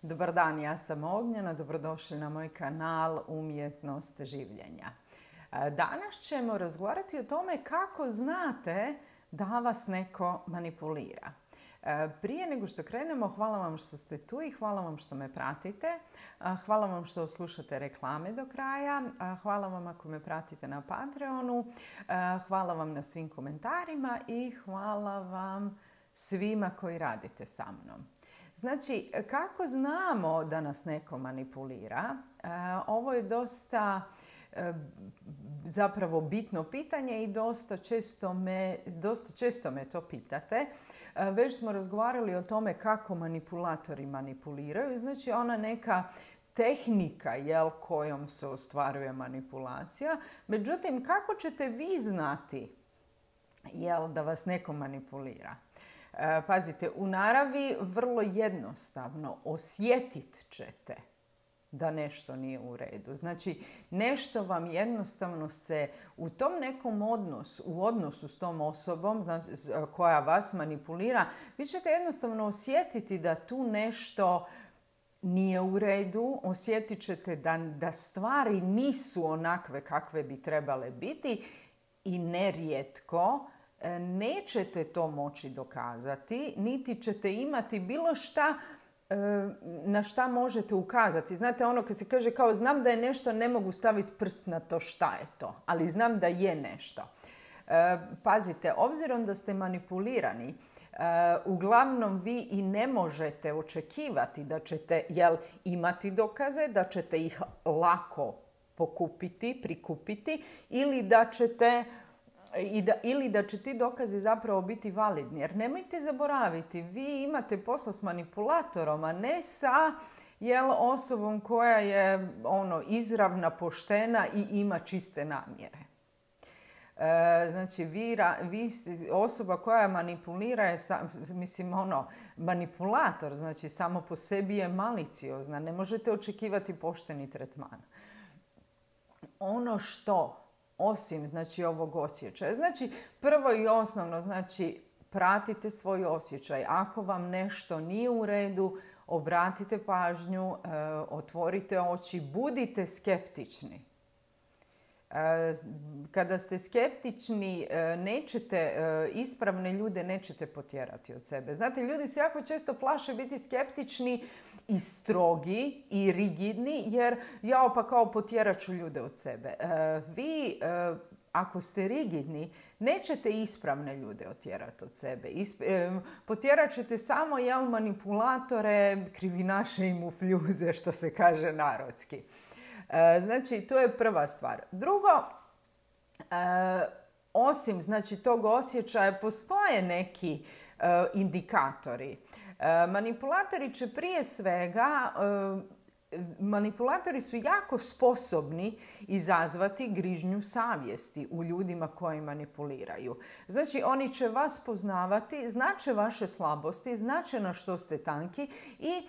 Dobar dan, ja sam Ognjena, dobrodošli na moj kanal Umjetnost življenja. Danas ćemo razgovarati o tome kako znate da vas neko manipulira. Prije nego što krenemo, hvala vam što ste tu i hvala vam što me pratite. Hvala vam što slušate reklame do kraja. Hvala vam ako me pratite na Patreonu. Hvala vam na svim komentarima i hvala vam svima koji radite sa mnom. Znači, kako znamo da nas neko manipulira? Ovo je dosta zapravo bitno pitanje i dosta često me to pitate. Već smo razgovarali o tome kako manipulatori manipuliraju. Znači, ona neka tehnika kojom se ostvaruje manipulacija. Međutim, kako ćete vi znati da vas neko manipulira? Pazite, u naravi vrlo jednostavno osjetit ćete da nešto nije u redu. Znači, nešto vam jednostavno se u tom nekom odnosu s tom osobom koja vas manipulira, vi ćete jednostavno osjetiti da tu nešto nije u redu, osjetit ćete da stvari nisu onakve kakve bi trebale biti i nerijetko nećete to moći dokazati, niti ćete imati bilo šta na šta možete ukazati. Znate ono kad se kaže kao znam da je nešto, ne mogu staviti prst na to šta je to, ali znam da je nešto. Pazite, obzirom da ste manipulirani, uglavnom vi i ne možete očekivati da ćete imati dokaze, da ćete ih lako prikupiti ili da će ti dokazi zapravo biti validni. Jer nemojte zaboraviti, vi imate posla s manipulatorom, a ne sa osobom koja je izravna, poštena i ima čiste namjere. Znači, osoba koja manipulira je, manipulator, znači samo po sebi je maliciozna. Ne možete očekivati pošteni tretman. Ono što osim ovog osjećaja. Znači, prvo i osnovno, pratite svoj osjećaj. Ako vam nešto nije u redu, obratite pažnju, otvorite oči, budite skeptični. Kada ste skeptični, ispravne ljude nećete potjerati od sebe. Znate, ljudi se jako često plaše biti skeptični i strogi i rigidni, jer pa kao potjerat ću ljude od sebe. Vi, ako ste rigidni, nećete ispravne ljude otjerati od sebe. Potjerat ćete samo manipulatore, krivinaše i mufljuze, što se kaže narodski. Znači, to je prva stvar. Drugo, osim tog osjećaja, postoje neki indikatori. Manipulatori će prije svega, manipulatori su jako sposobni izazvati grižnju savjesti u ljudima koji manipuliraju. Znači, oni će vas poznavati, znače vaše slabosti, znače na što ste tanki i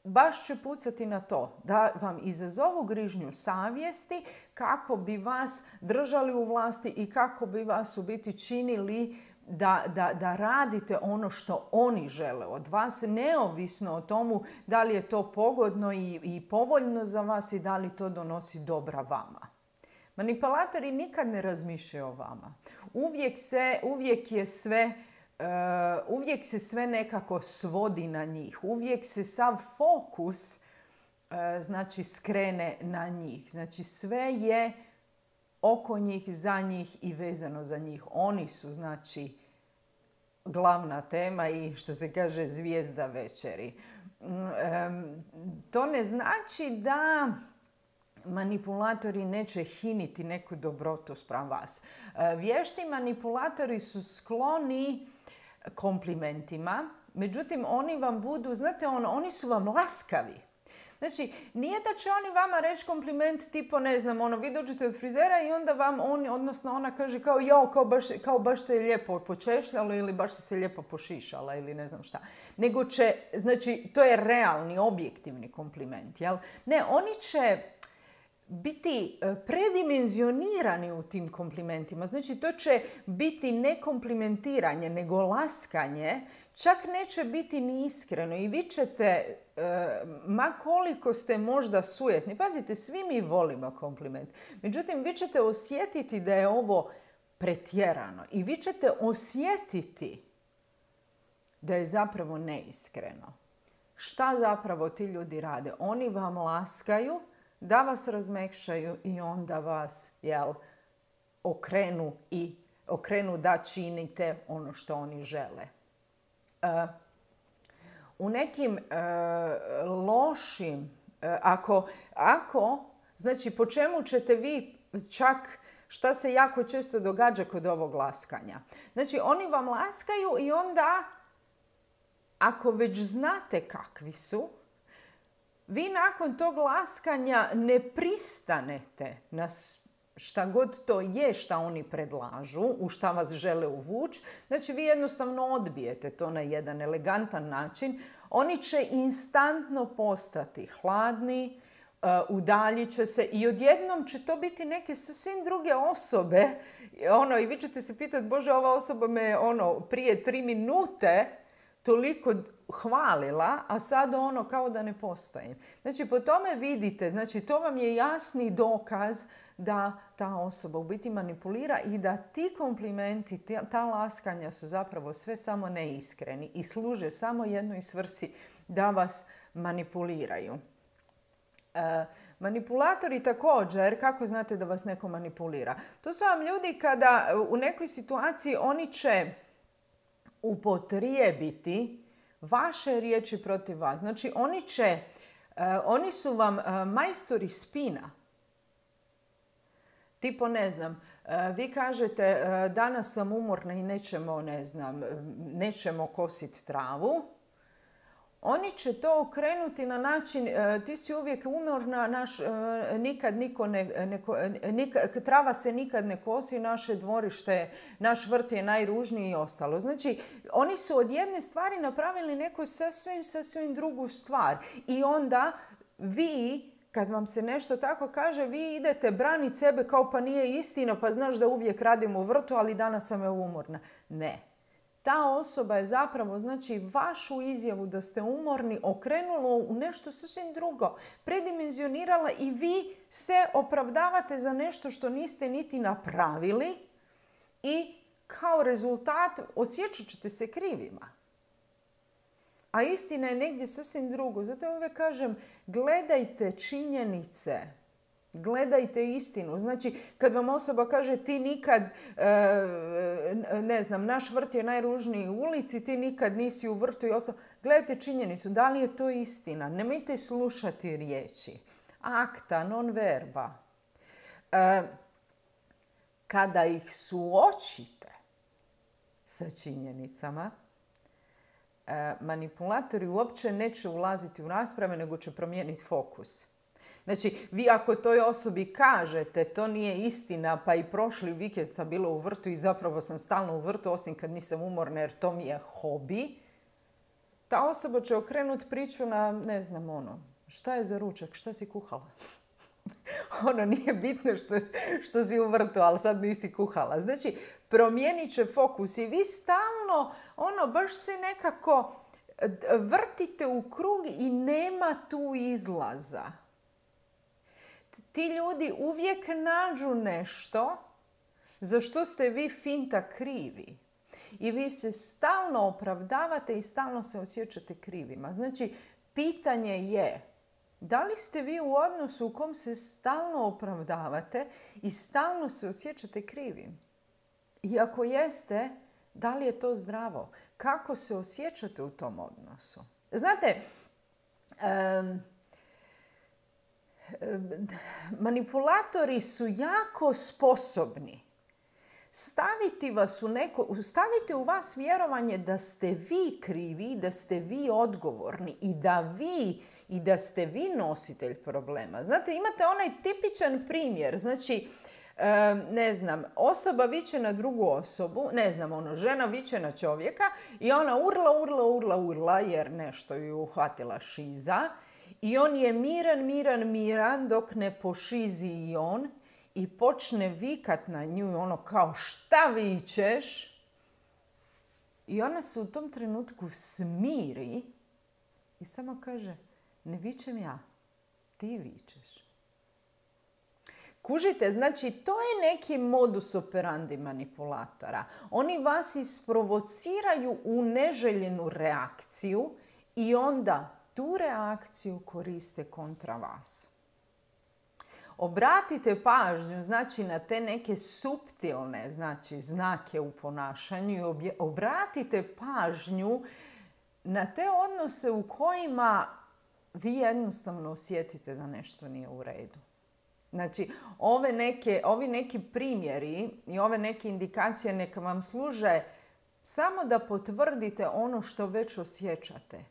baš će pucati na to da vam izazovu grižnju savjesti kako bi vas držali u vlasti i kako bi vas u biti činili da radite ono što oni žele od vas, neovisno o tomu da li je to pogodno i povoljno za vas i da li to donosi dobra vama. Manipulatori nikad ne razmišljaju o vama. Uvijek se sve nekako svodi na njih. Uvijek se sav fokus skrene na njih. Znači, sve je oko njih, za njih i vezano za njih. Oni su, glavna tema i, što se kaže, zvijezda večeri. To ne znači da manipulatori neće hiniti neku dobrotu spram vas. Vješti manipulatori su skloni komplimentima, međutim, oni vam budu, oni su vam laskavi. Znači, nije da će oni vama reći kompliment tipo, vi dođete od frizera i onda vam ona kaže kao baš te je lijepo počešljalo ili baš si se lijepo pošišala ili ne znam šta. Nego će, to je realni, objektivni kompliment, jel? Ne, oni će biti predimenzionirani u tim komplimentima. Znači, to će biti ne komplimentiranje, nego laskanje čak neće biti ni iskreno i vi ćete, ma koliko ste možda sujetni, pazite, svi mi volimo kompliment, međutim vi ćete osjetiti da je ovo pretjerano i vi ćete osjetiti da je zapravo neiskreno. Šta zapravo ti ljudi rade? Oni vam laskaju da vas razmekšaju i onda vas, okrenu da činite ono što oni žele. U nekim lošim, znači po čemu ćete vi čak, šta se jako često događa kod ovog laskanja. Znači oni vam laskaju i onda, ako već znate kakvi su, vi nakon tog laskanja ne pristanete na šta god to je šta oni predlažu, u šta vas žele uvući. Znači vi jednostavno odbijete to na jedan elegantan način. Oni će instantno postati hladni, udaljit će se i odjednom će to biti neke sasvim druge osobe. I vi ćete se pitati, Bože, ova osoba me prije 3 minute toliko hvalila, a sad kao da ne postoji. Znači po tome vidite, znači to vam je jasni dokaz da ta osoba u biti manipulira i da ti komplimenti, ta laskanja su zapravo sve samo neiskreni i služe samo jednoj svrsi da vas manipuliraju. Manipulatori također, kako znate da vas neko manipulira? To su vam ljudi kada u nekoj situaciji oni će upotrijebiti vaše riječi protiv vas. Znači oni su vam majstori spina. Tipo, ne znam, vi kažete danas sam umorna i nećemo kositi travu. Oni će to okrenuti na način, ti si uvijek umorna, trava se nikad ne kosi, naše dvorište, naš vrt je najružniji i ostalo. Znači, oni su od jedne stvari napravili neku sasvim drugu stvar. I onda vi, kad vam se nešto tako kaže, vi idete braniti sebe kao pa nije istina, pa znaš da uvijek radim u vrtu, ali danas sam umorna. Ne. Ta osoba je zapravo, znači, vašu izjavu da ste umorni okrenula u nešto sasvim drugo. Predimenzionirala i vi se opravdavate za nešto što niste niti napravili i kao rezultat osjećat ćete se krivima. A istina je negdje sasvim drugo. Zato uvijek kažem, gledajte činjenice. Gledajte istinu. Znači, kad vam osoba kaže ti nikad, naš vrt je najružniji u ulici, ti nikad nisi u vrtu i ostalo. Gledajte činjenicu. Da li je to istina? Nemojte slušati riječi. Akta, non verba. Kada ih suočite sa činjenicama, manipulatori uopće neće ulaziti u rasprave, nego će promijeniti fokus. Znači, vi ako toj osobi kažete to nije istina, pa i prošli vikend sam bila u vrtu i zapravo sam stalno u vrtu, osim kad nisam umorna jer to mi je hobi, ta osoba će okrenuti priču na, šta je za ručak, šta si kuhala? Nije bitno što si u vrtu, ali sad nisi kuhala. Znači, promijenit će fokus i vi stalno, baš se nekako vrtite u krug i nema tu izlaza. Ti ljudi uvijek nađu nešto za što ste vi finta krivi. I vi se stalno opravdavate i stalno se osjećate krivima. Znači, pitanje je, da li ste vi u odnosu u kom se stalno opravdavate i stalno se osjećate krivim? I ako jeste, da li je to zdravo? Kako se osjećate u tom odnosu? Znate, manipulatori su jako sposobni staviti u vas vjerovanje da ste vi krivi, da ste vi odgovorni i da ste vi nositelj problema. Znate, imate onaj tipičan primjer, znači, osoba viče na drugu osobu, žena viče na čovjeka i ona urla jer nešto ju uhvatila šiza i on je miran dok ne pošizi i on i počne vikat na nju kao šta vičeš? I ona se u tom trenutku smiri i samo kaže, ne vičem ja, ti vičeš. Kužite, znači to je neki modus operandi manipulatora. Oni vas isprovociraju u neželjenu reakciju i onda tu reakciju koriste kontra vas. Obratite pažnju, znači, na te neke suptilne, znači, znake u ponašanju i obratite pažnju na te odnose u kojima vi jednostavno osjetite da nešto nije u redu. Znači, ovi neki primjeri i ove neke indikacije neka vam služe samo da potvrdite ono što već osjećate.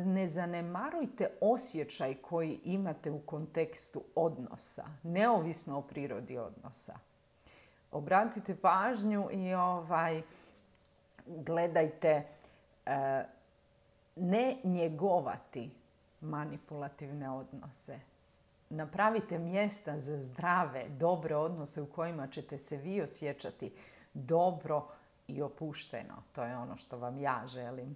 Ne zanemarujte osjećaj koji imate u kontekstu odnosa, neovisno o prirodi odnosa. Obratite pažnju i gledajte ne njegovati manipulativne odnose. Napravite mjesta za zdrave, dobre odnose u kojima ćete se vi osjećati dobro i opušteno. To je ono što vam ja želim.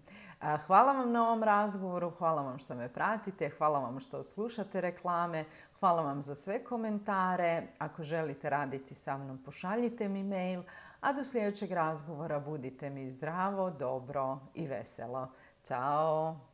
Hvala vam na ovom razgovoru, hvala vam što me pratite, hvala vam što slušate reklame, hvala vam za sve komentare. Ako želite raditi sa mnom, pošaljite mi mail, a do sljedećeg razgovora budite mi zdravo, dobro i veselo. Ćao!